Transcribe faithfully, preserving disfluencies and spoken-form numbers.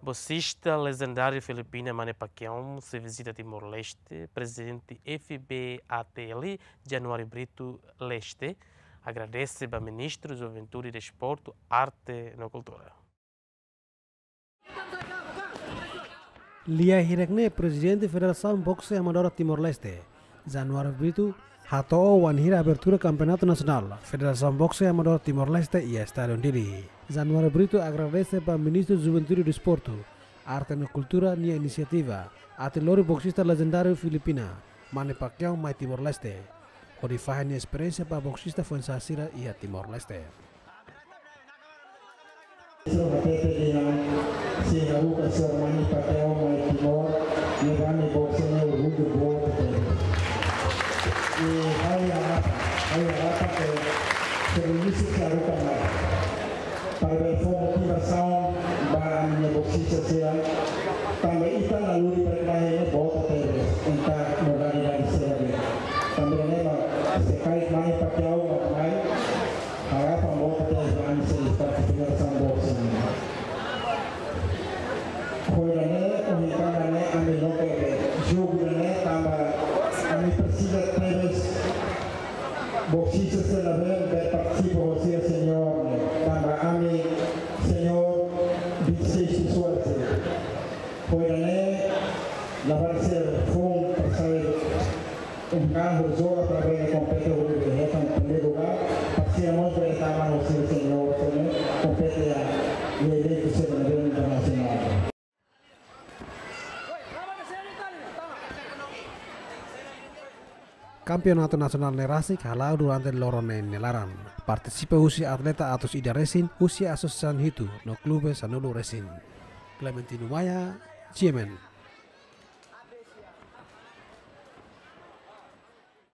Boksista lejendáriu Filipina Manny Pacquiao sei vizita Timor-Leste, Prezidente F B A T L, Januário Brito Leste, agradese ba Ministru Juventude, Desportu, Arte no Kultura. Lia hirak ne'e Prezidente Federasaun Boxe Amadora Timor-Leste, Januário Brito, hato'o wainhira abertura Kampeonatu Nasionál Federasaun Boxe Amadora Timor-Leste iha Estádiu Dili. Januário Brito agradese ba Ministru Juventude e Desportu, Arte no Kultura nia inisiativa atu lori boksista lejendáriu Filipina, Manny Pacquiao mai Timor-Leste, hodi fahe nia esperiénsia ba boksista foin-sa'e sira iha Timor-Leste. Sira hatete dehan, se haruka señór Manny Pacquiao mai Timor, ne'e ami boxe ne'e orgullu boot tebes. I ha'u harap, ha'u harap ke seluruh sira haruka mai. Para bele fó motivasaun ba ami-nia boksista sira. Tanba ita-nia lori para mai ne'e boot tebes, entaun modalidade sira de'it. Tanba ne'e mak se karik Manny Pacquiao mak mai, harapan boot tebes ba ami sira parte Federasaun Boxe. Ho ida-ne'e, ohin tanba ne'e ami loke be jogu ida-ne'e tanba ami presiza tebes boksista sira ne'ebé partisipa ho sira señór ne'e. Tanba ami señór vinte e seis pessoas. Ho ida-ne'e, labarik sira foun para sai um carro joga para bele kompete ho ida-ne'e hetan primeiru lugár, para sira mós bele tama ho sira señór, sira kompete iha eventu sira ne'ebé internasionál. Kampeonatu nasionál ne'e rasik hala'o durante loron ne'e nia laran. Partisipa husi atleta atus ida resin, husi asosiasaun hitu no klube sanulu resin. Clementino Maia, G M N.